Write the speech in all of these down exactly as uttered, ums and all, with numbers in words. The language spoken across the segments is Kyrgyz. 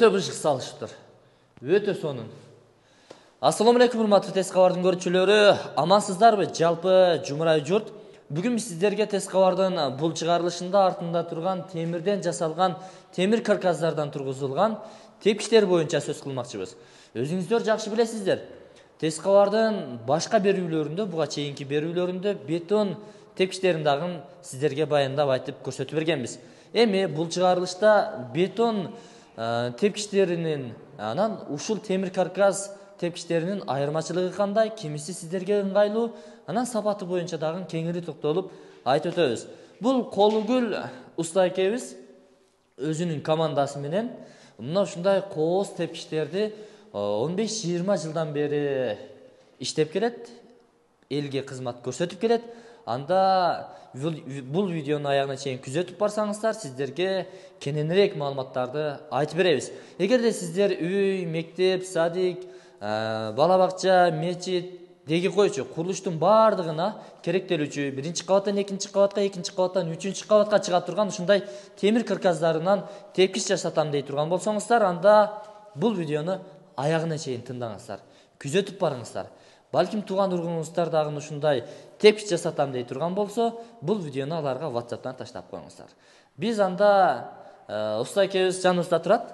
өтө быжык салышыптыр. Өтө сонун. Ассаламу алейкум, урматтуу Тез кабардын көрүүчүлөрү. Амансыздарбы? Жалпы жумурай журт. Бүгүн биз сиздерге Тез кабардын бул чыгарылышында артында турган темирден жасалган, темир каркасдардан тургузулган тепкичтер боюнча сөз кылмакчыбыз. Өзүңүздөр жакшы билесиздер. Тез кабардын башка берүүлөрүндө, буга чейинки берүүлөрүндө бетон тепкичтерин дагы сиздерге баяндап айтып көрсөтүп бергенбиз. Эми бул чыгарылышта бетон тепкичтеринин анан ушул темир каркас тепкичтеринин айырмачылыгы кандай, кимиси сиздерге ыңгайлуу, анан сапаты боюнча дагы кеңири токтолуп айтып өтөбүз. Бул Колугүл уста экебиз өзүнүн командасы менен мына ушундай кооз тепкичтерди он беш жыйырма жылдан бери иштеп келет, элге кызмат көрсөтүп келет. Анда бул видеонун аягына чейин күзөтүп барсаңыздар, сиздерге кененирээк маалыматтарды айтып беребиз. Эгерде сиздер үй, мектеп, садик, бала бакча, мечит, деги койчу курулуштун баардыгына керектелүүчү биринчи кабаттан экинчи кабатка, экинчи кабаттан үчүнчү кабатка чыга турган ушундай темир каркасдарынан тепкич жасатам дей турган болсоңуздар, анда бул видеону аягына чейин тыңдаңыздар, күзөтүп барыңыздар. Балким тууган ургуңуздар дагы ушундай тепкич жасатам дей турган болсо, бул видеону аларга WhatsApp'тан таштап коюңуздар. Биз анда уста экебиз жаныбызда турат.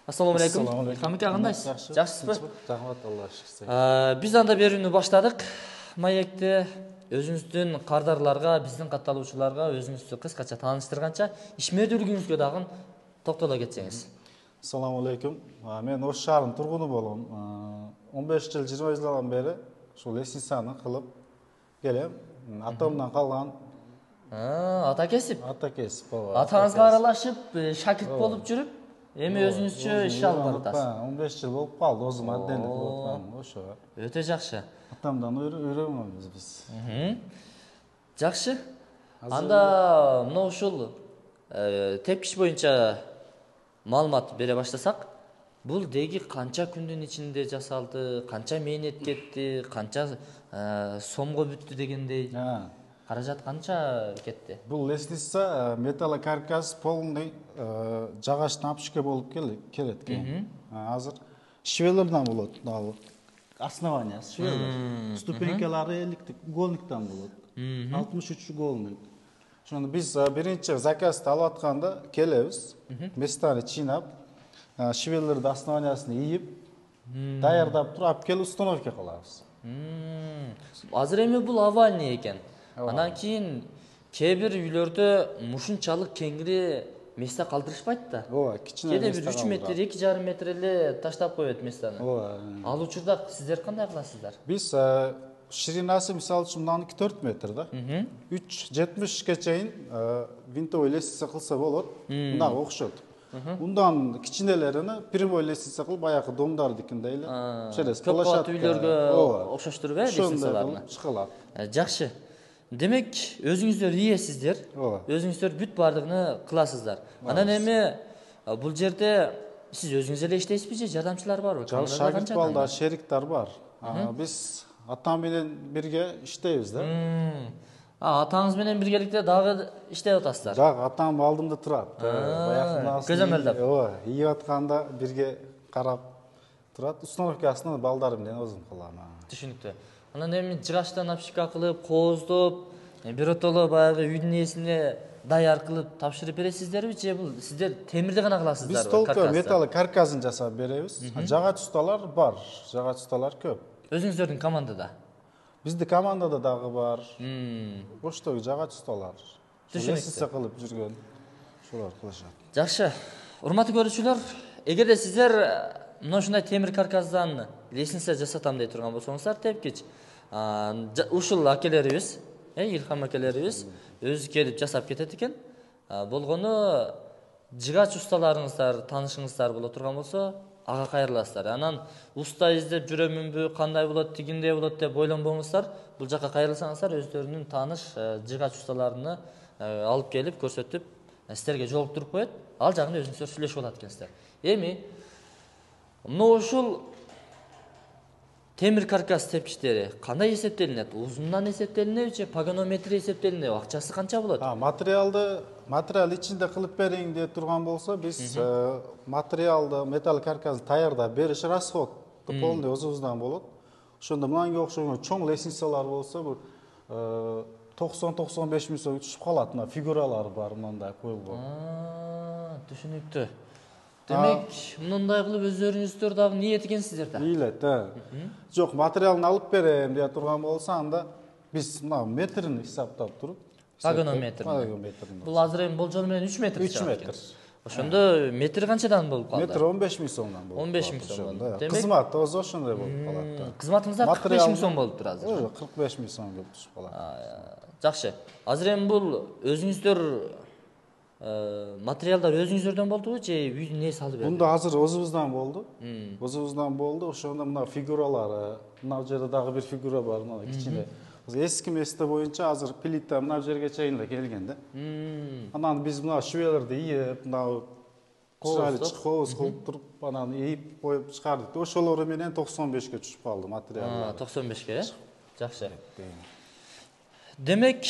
Ассаламу алейкум. Хамике кандайсыз? Жакшысызбы? Рахмат, Алла шүкүр. Биз анда берүүнү баштадык. Маекте өзүңүздүн кардарларга, биздин катталуучуларга өзүңүздү кыскача тааныштырганча, ишмердүүлүгүңүзгө дагы токтоло кетсеңиз. Ассаламу алейкум. Мен Ош шаарынын тургуну болом. он беш жыл, жыйырма жылдан бери ушул лестницаны кылып келем. Атамдан калган. Ата кесип. Ата кесип, ооба. Атаңызга аралашып, шакирт болуп жүрүп, эми өзүңүзчө иш алып баратасыз. он беш жыл болуп калды, өзүм отдельно кылып атканым ошо. Өтө жакшы. Атамдан үйрөнгөнбүз биз. Жакшы. Анда мына ушул тепкич боюнча маалымат бере баштасак, бул деги канча күндүн ичинде жасалды, канча мээнет кетти, канча сомго бүттү дегендей. Каражат канча кетти? Бул лестница металлокаркас полный жагачтан апшке болуп келет экен. Азыр швелерден болот дагы. Основаниясы швелер. Ступенькалары эликтик уголниктен болот. алтымыш үч уголник. Ошондо биз биринчи заказды алып атканда келебиз, местаны чыйнап, швелерди основаниясын ийип, даярдап туруп алып келип установка кылабыз. Азыр эми бул овальный экен. Анан кийин кээ бир үйлөрдө мушунчалык кеңири месте калтырышпайт да. Ооба, кичине кээде бир үч метр, эки жарым метр эле таштап коет местени. Ооба. Ал учурда сиздер кандай кыласыздар? Биз ширинасы мисалы үчүн мындан төрт метр да. үч жетимишке чейин винтовый лестница кылса болот. Мындагы окшот. Ундан кичинелерини прямой лестница кылып, баягы домдардыкындай эле через площадка үйлөргө окшоштуруп э лестницаларны чыгылат. Жакшы. Демек, өзүңүздөр ийесиздер. Өзүңүздөр бүт бардыгын кыласыздар. Анан эми бул жерде сиз өзүңүз эле иштейсизби же жардамчылар барбы? Жок, шагирт балдар, шериктер бар. Биз атам менен бирге иштейбиз да. Атаңыз менен биргеликте дагы иштеп атасыздар. Жок, атам алдымда турат. Баягы көзөмөлдөп. Ооба, ийип атканда бирге карап турат. Установкасын балдар менен өзүм кылам. Түшүнүктүү. Анан эми жыгачтан апшика кылып, кооздоп, биротоло баягы үйдүн ээсине даяр кылып тапшырып бересиздерби же бул сиздер темирди гана кыласыздарбы? Биз толук металл каркасын жасап беребиз. Жагач усталар бар, жагач усталар көп. Өзүңүздөрдүн командада? Бизди командада дагы бар. Оштогу жагач усталар. Түшүнүктүү. Кылып жүргөн ушулар кылышат. Жакшы. Урматтуу көрүүчүлөр, эгерде сиздер мына ушундай темир каркасдан лестница жасатам дей турган болсоңуздар, тепкич ушул акелерибиз, Илхам акелерибиз өзү келип жасап кетет экен. Болгону жыгач усталарыңыздар, таанышыңыздар боло турган болсо, ага кайрыласыздар. Анан уста издеп жүрөмүнбү, кандай болот, тигиндей болот деп ойлонбоңуздар. Бул жака кайрылсаңыздар, өздөрүнүн тааныш жыгач усталарыны алып келип көрсөтүп, сиздерге жолуктуруп коет. Ал жагында өзүңүздөр сүйлөшүп алат экенсиздер. Эми мына ушул темир каркас тепкичтери кандай эсептелинет? Узундан эсептелинеби же пагонометри эсептелинеби? Акчасы канча болот? Материалды материал ичинде кылып берейин деп турган болсо, биз материалды металл каркасты даярдап бериш расход полный өзүбүздөн болот. Ошондо мынанга окшогон чоң лестницалар болсо, бул токсон токсон беш миң сом түшүп калат. Мына фигуралар бар, мындай коюлгон. Түшүнүктүү. Демек, мындай кылып өздөрүңүздөр дагы ниет экенсиздер да. Ийилет, э. Жок, материалын алып берем деп турган болсо, анда биз мына метрин хисаптап туруп, пагонометр. Бул азыр эми болжол менен үч метр үч метр. Ошондо метр канчадан болуп калды? Метр он беш миң сомдон болуп. он беш миң сом болду. Кызмат өзү ошондой болуп калат да. Кызматыңыздар кырк беш миң сом болуптур азыр. кырк беш миң сом болуп түшүп калат. Жакшы. Азыр эми бул өзүңүздөр материалдар өзүңүздөрдөн болдубу же үйдүн ээси алып берди? Мында азыр өзүбүздөн болду. Өзүбүздөн болду. Ошондо мына фигуралары, мына жерде дагы бир фигура бар, мына кичине. Эски месте боюнча азыр плита мына жерге чейин эле келген да. Анан биз мына швелерди ийип, мына кооз кылып туруп, анан ийип коюп чыгардык. Ошолору менен токсон бешке түшүп калды материалдар. токсон бешке, э? Жакшы. Демек,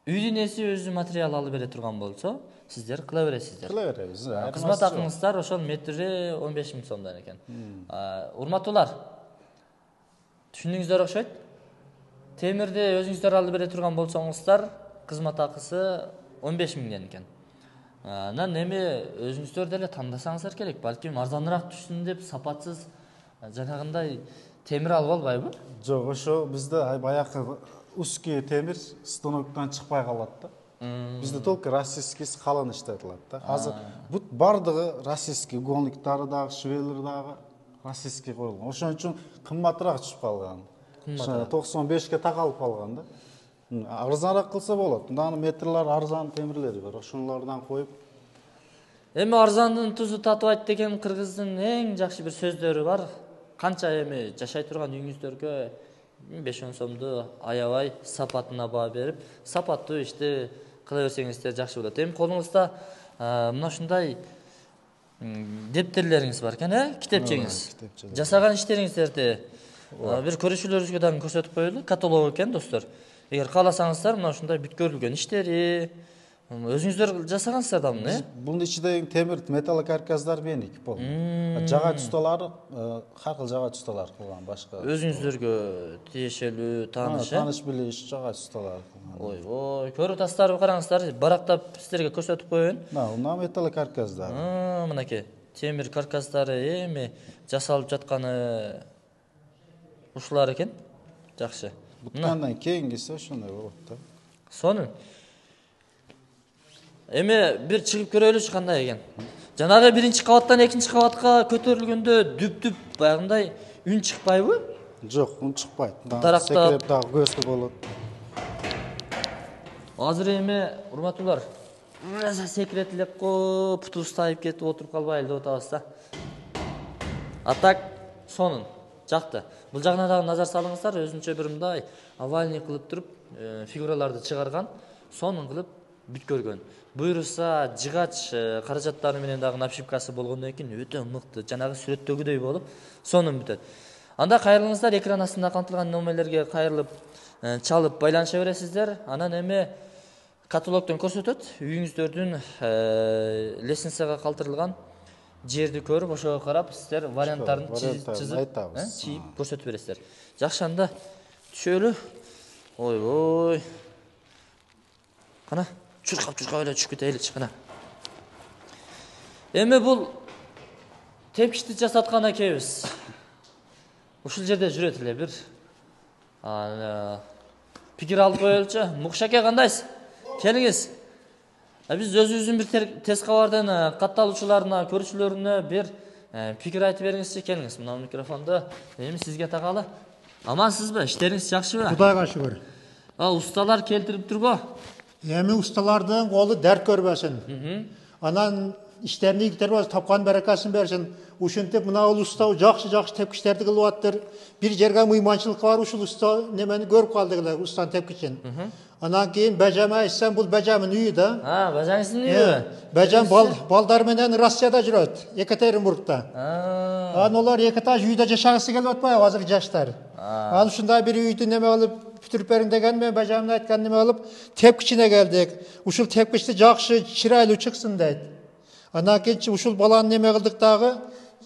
үйдүн ээси өзү материал алып бере турган болсо, сиздер кыла бересиздер. Кыла беребиз. Кызмат акыңыздар ошол метри он беш миң сомдон экен. Урматтуулар, түшүндүңүздөр окшойт. Темирди өзүңүздөр алып бере турган болсоңуздар, кызмат акысы он беш миңден экен. Анан эми өзүңүздөр деле тандасаңыздар керек. Балким арзаныраак түшсүн деп сапатсыз жанагындай темир алып албайбы? Жок, ошо бизде баягы узкий темир станоктон чыкпай калат да. Бизде только российский калын иштетилет да. Азыр бут бардыгы российский, гонликтары дагы, швелер дагы российский коюлган. Ошон үчүн кымбатыраак түшүп калган. токсон бешке такалып калган да. Арзаныраак кылса болот. Мындан метрлер арзан темирлери бар. Ошолордон коюп. Эми арзандын тузу татыбайт деген кыргыздын эң жакшы бир сөздөрү бар. Канча эми жашай турган үйүңүздөргө беш он сомду аябай сапатына баа берип, сапаттуу ишти кыла берсеңиздер жакшы болот. Эми колуңузда мына ушундай дептерлериңиз бар экен, э? Китепчеңиз. Жасаган иштериңиздерди бир көрүүчүлөрүбүзгө дагы көрсөтүп коелу. Каталог экен, достор. Эгер кааласаңыздар, мына ушундай бүткөрүлгөн иштери өзүңүздөр жасагансыздар да муну, э? Бунун ичиндеги темир металл каркастар меники пол. Жагач усталары ар кыл жагач усталар кылган башка. Өзүңүздөргө тиешелүү, тааныш, э? Тааныш билиш жагач усталар. Ой, ой, көрүп атасыздарбы, караңыздар, барактап сиздерге көрсөтүп коеюн. Мына металл каркастар. Мынакей, темир каркастары эми жасалып жатканы ушулар экен. Жакшы. Буткандан кийингиси ошондой болот да. Сонун. Эми бир чыгып көрөлүчү кандай экен. Жанагы биринчи кабаттан экинчи кабатка көтөрүлгөндө дүп-дүп баягындай үн чыкпайбы? Жок, үн чыкпайт. Дарактап секирип дагы көзгө болот. Азыр эми урматтуулар, секирет элек го, путубуз тайып кетип отуруп калбайлы деп атабыз да. А так сонун, жакты. Бул жагына дагы назар салыңыздар, өзүнчө бир мындай овальный кылып туруп, фигураларды чыгарган, сонун кылып бүткөргөн. Буйруса жыгач каражаттары менен дагы напшипкасы болгондон кийин өтө мыкты, жанагы сүрөттөгүдөй болуп, сонун бүтөт. Анда кайрылыңыздар, экран астында камтылган номерлерге кайрылып, чалып байланыша бересиздер. Анан эми каталогдон көрсөтөт, үйүңүздөрдүн лестницага калтырылган жерди көрүп, ошого карап сиздер варианттарын чызып, чийип көрсөтүп бересиздер. Жакшы, анда түшөлү. Ой, ой. Кана, чуркап-чуркап эле түшүп кетеличи, кана. Эми бул тепкичти жасаткан экебиз. Ушул жерде жүрөт эле бир пикир алып коелучу. Мукшаке, кандайсыз? Келиңиз. Биз өзүбүздүн бир тез кабардын катталуучуларына, көрүүчүлөрүнө бир пикир айтып бериңизчи. Келиңиз, мына микрофонду эми сизге такалы. Амансызбы? Иштериңиз жакшыбы? Кудайга шүгүр. А, усталар келтирип турбу? Эми усталардын колу дерт көрбөсүн. Анан иштерин ийгитер болсо тапкан баракасын берсин. ушинтип мына уста жакшы жакшы тепкичтерди кылып атыптыр. Бир жерге мыйманчылыкка барып ушул уста немени көрүп калдык эле, устанын тепкичин. Анан кийин Бажам айтсам, бул Бажамдын үйү да. А, Бажаңыздын үйү. Бажам балдар менен Россияда жүрөт, Екатеринбургда. Анан олар эки этаж үйдө жашагысы келип атпайбы азыр жаштар. Анан ушундай бир үйдү неме кылып бүтүрүп бериң деген мен Бажамдын айткан неме кылып тепкичине келдик. Ушул тепкичти жакшы чырайлуу чыксын дейт. Анан кийин ушул баланы неме кылдык дагы,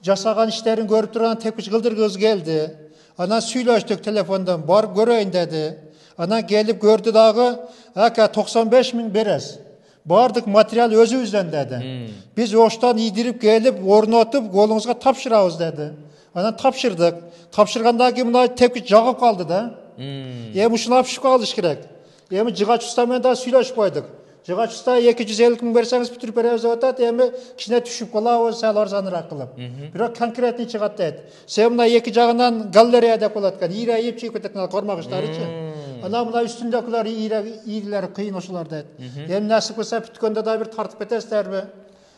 жасаган иштерин көрүп турган тепкич кылдыргыбыз келди. Анан сүйлөштүк телефондон, барып көрөйүн деди. Анан келип көрдү дагы, ака токсон беш миң бересиз. Бардык материал өзүбүздөн деди. Биз оштон ийдирип келип, орнотуп, колуңузга тапшырабыз деди. Анан тапшырдык. Тапшыргандан кийин мына тепкич жагып калды да. Эми ушуну алып калыш керек. Эми жыгач уста менен да сүйлөшүп койдук. Жыгач уста эки жүз элүү миң берсеңиз бүтүрүп беребиз деп атат. Эми кичине түшүп калабыз, сал арзаныраак кылып. Бирок конкретный чыгат дейт. Сен мына эки жагынан галерея деп болот экен. Ийре ийип чыгып кетет кармагычтарычы. Анан мына үстүндөгүлөр ийилери кыйын ошолор дейт. Эми насип кылса бүткөндө да бир тартып кетесиздерби?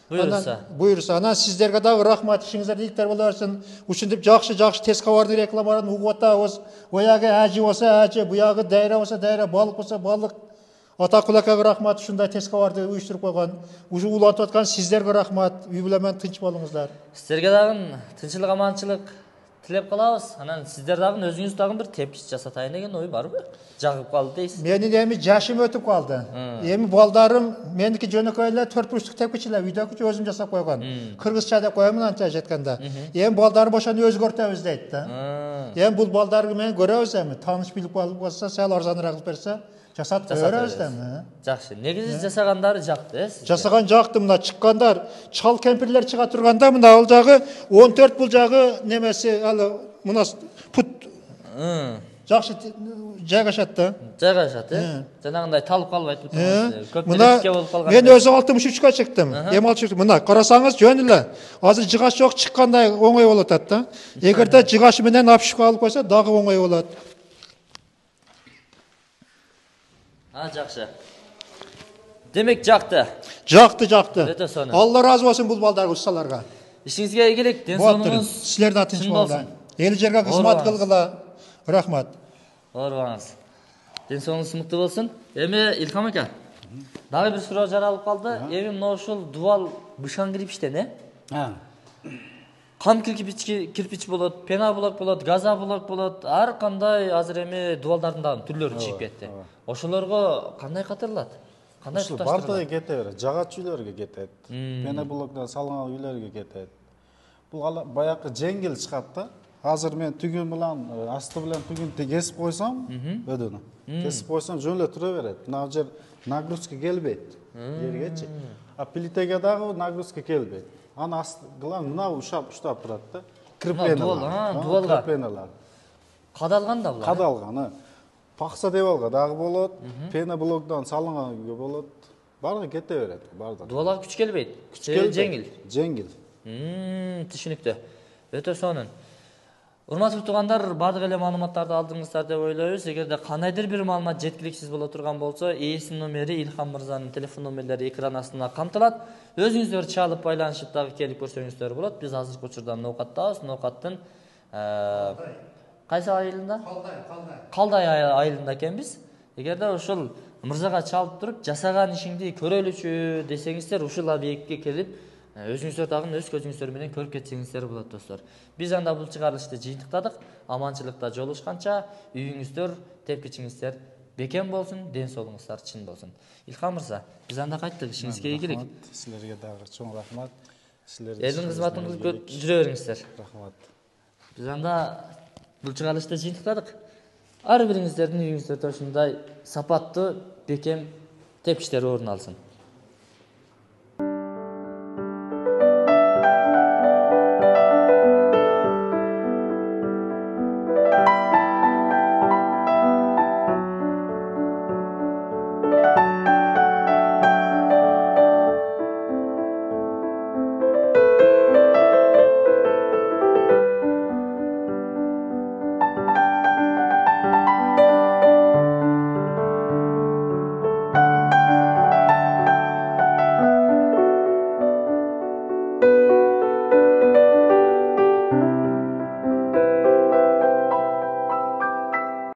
Буйрса. Буйрса. Анан сиздерге дагы рахмат, ишиңиздер ийгиликтер боло берсин. Ушинтип жакшы-жакшы тез кабардын рекламаларын угуп атабыз. Боягы ажы болсо ажы, буягы дайра болсо дайра, балык болсо балык. Атакул акага рахмат, ушундай тез кабарды уюштуруп койгон. Уже улантып аткан сиздерге рахмат. Үй бүлө менен тынч болуңуздар. Сиздерге дагы тынччылык, аманчылык тилеп калабыз. Анан сиздер дагы өзүңүз дагы бир тепкич жасатайын деген ой барбы? Жагып калды дейсиз. Менин эми жашым өтүп калды. Эми балдарым меники жөнөкөй эле төрт бурчтук тепкич эле үйдөгүчү өзүм жасап койгон. Кыргызча деп коемун анча жеткенде. Эми балдарым ошону өзгөртөбүз дейт да. Эми бул балдарды менен көрөбүз эми. Тааныш билип калса, сал арзаныраак кылып берсе, жасап көрөбүз да эми. Жакшы. Негизи жасагандары жакты, э? Жасаган жакты, мына чыккандар, чал кемпирлер чыга турганда мына ал жагы он төрт, бул жагы немеси ал мына пут. Жакшы жайгашат да. Жайгашат, э? Жанагындай талып калбайт бут. Мына мен өзү алтымыш үчкө чыктым. Эми ал чыкты. Мына карасаңыз жөн эле. Азыр жыгач жок, чыккандай оңой болот атат да. Эгерде жыгач менен апшыкка алып койсо дагы оңой болот. А, жакшы. Демек жакты. Жакты, жакты. Өтө сонун. Алла разы болсун бул балдарга, усталарга. Ишиңизге ийгилик, ден соолугуңуз. Силер да тынч болуңуздар. Эл жерге кызмат кылгыла. Рахмат. Оорубаңыз. Ден соолугуңуз мыкты болсун. Эми Илхам ака, дагы бир суроо жаралып калды. Эми мына ушул дубал бышан кирпичтен, э? Кам кирпич болот, пеноблок болот, газоблок болот. Ар кандай азыр эми дубалдардын дагы түрлөрү чыгып кетти. Ошолорго кандай катырылат? Кандай тушташтырылат? Бардыгы кете берет, жагач үйлөргө кетет. Пеноблоктон салынган үйлөргө кетет. Бул баягы жеңил чыгат да. Азыр мен түгүн менен асты менен түгүнтү кесип койсом, өдүнү. Кесип койсом жөн эле тура берет. Мына жер нагрузка келбейт жергечи. А плитеге дагы нагрузка келбейт. Аны асты кылам, мына ушап уштап турат да. Кирпеналар. Дубалга. Кирпеналар. Кадалган да булар. Кадалган. Пакса дебалга дагы болот, пеноблоктон салынган үйгө болот. Бардыгы кете берет, бардыгы. Дубалга күч келбейт. Күч жеңил. Жеңил. Мм, түшүнүктүү. Өтө сонун. Урматтуу туугандар, бардык эле маалыматтарды алдыңыздар деп ойлойбуз. Эгерде кандайдыр бир маалымат жеткиликсиз боло турган болсо, ээсинин номери, Илхам мырзанын телефон номерлери экран астына камтылат. Өзүңүздөр чалып байланышып дагы келип көрсөңүздөр болот. Биз азыркы учурда ноокаттабыз. Ноокаттын кайсы айылында? Калдай, Калдай. Калдай айылында экенбиз. Эгерде ушул мырзага чалып туруп, жасаган ишиңди көрөлүчү десеңиздер, ушул объектке келип, өзүңүздөр дагы өз көзүңүздөр менен көрүп кетсеңиздер болот, достор. Биз анда бул чыгарылышты жыйынтыктадык. Аманчылыкта жолугушканча, үйүңүздөр, тепкичиңиздер бекем болсун, ден соолугуңуздар чын болсун. Илхам мырза, биз анда кайттык, ишиңизге ийгилик. Силерге дагы чоң рахмат. Силердин элдин кызматын кылып жүрө бериңиздер. Рахмат. Биз анда бул чыгарылышты жыйынтыктадык. Ар бириңиздердин үйүңүздөрдө ушундай сапаттуу, бекем тепкичтер орун алсын.